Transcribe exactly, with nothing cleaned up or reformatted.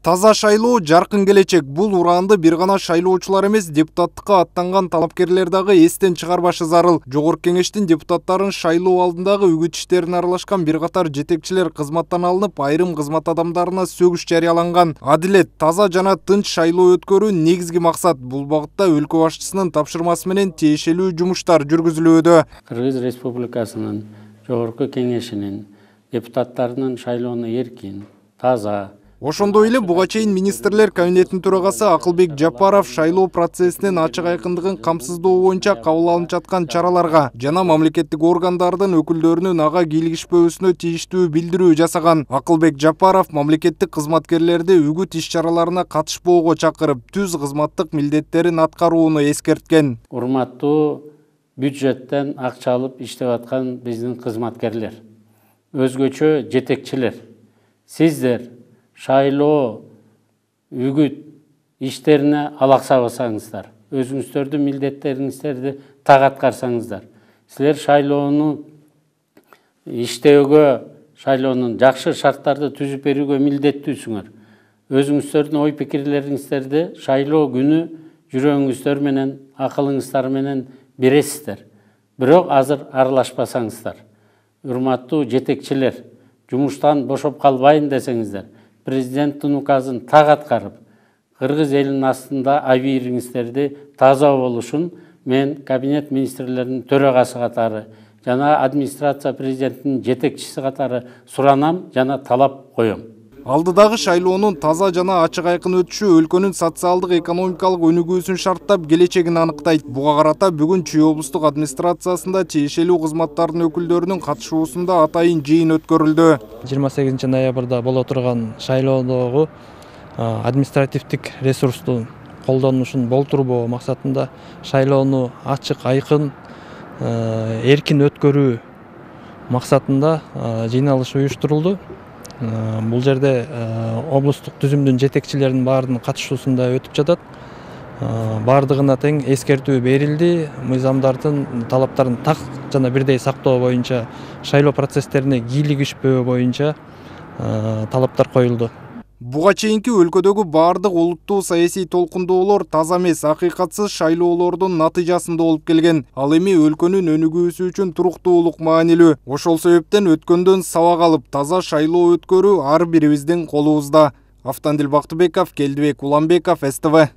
Таза шайлоо, жаркын келечек. Бул ураанды бир гана шайлоочулар эмес, депутаттыкка аттанган талапкерлер дагы эстен чыгарбашы зарыл. Жогорку кеңештин депутаттарын шайлоо алдындагы үгүт иштерине аралашкан бир катар жетекчилер кызматтан алынып, айрым кызмат адамдарына сөгүш жарыяланган. Адилет, таза жана тынч шайлоо өткөрүү негизги максат. Бул багытта өлкө башчысынын тапшырмасы менен тиешелүү жумуштар жүргүзүлүүдө. Кыргыз Республикасынын Жогорку кеңешинин депутаттарынын шайлоону эркин, таза. Ошондой эле буга чейин министрлер кабинетинин төрагасы Акылбек Жапаров шайлоо процессинин ачык айкындыгын камсыздоо боюнча кабыл алынып жаткан чараларга жана мамлекеттик органдардын өкүлдөрүнүн ага кийлигишпөөсүнө тийиштүү билдирүү жасаган. Акылбек Жапаров мамлекеттик кызматкерлерди үгүт иш-чараларына катышпоого чакырып, түз кызматтык милдеттерин аткарууну эскерткен. Урматтуу бюджеттен акча алып иштеп аткан биздин кызматкерлер, өзгөчө жетекчилер, сиздер шайлоо үгүт иштерине алаксабасаңыздар, өзүңүздөрдүн милдеттериңиздерди так аткарсаңыздар, силер шайлоону иштөөгө, шайлоонун жакшы шарттарды түзүп берүүгө милдеттүүсүңөр. Өзүңүздөрдүн ой пикирлериңиздерди шайлоо күнү жүрөгүңүздөр менен, акылыңыздар менен бересиздер. Бирок азыр аралашпасаңыздар, урматтуу жетекчилер, жумуштан бошоп калбайын десеңиздер, президенттин указын так аткарып, кыргыз элинин астында абийириңиздерди таза болушун мен кабинет министрлеринин төрагасы катары жана администрация президенттин жетекчиси катары суранам жана талап коем. Алдыдагы шайлоонун таза жана ачык айкын өтүшү өлкөнүн социалдык экономикалык өнүгүүсүн шарттап, келечегин аныктайт. Буга карата бүгүн Чүй облустук администрациясында тиешелүү кызматтардын өкүлдөрүнүн катышуусунда атайын жыйын өткөрүлдү. жыйырма сегизинчи ноябрда боло турган шайлоодогу административдик ресурстун колдонушун болтурбоо максатында шайлоону ачык, айкын, эркин өткөрүү максатында жыйналыш уюштурулду. Бул жерде облустук түзүмдүн жетекчилеринин баарынын катышуусунда өтүп жатат. Бардыгына тең эскертүү берилди. Мыйзамдардын талаптарын так жана бирдей сактоо боюнча, шайлоо процесстерине кийлигишпөө боюнча талаптар коюлду. Буга чейинки өлкөдөгү бардык олуттуу саясий толкундоолор таза эмес, акыйкатсыз шайлоолордун натыйжасында болуп келген. Ал эми өлкөнүн өнүгүүсү үчүн туруктуулук маанилүү. Ошол себептен өткөндөн сабак алып, таза шайлоо өткөрүү ар бирибиздин колубузда. Автандил Бактыбеков, Келдибек Уланбеков, С Т В.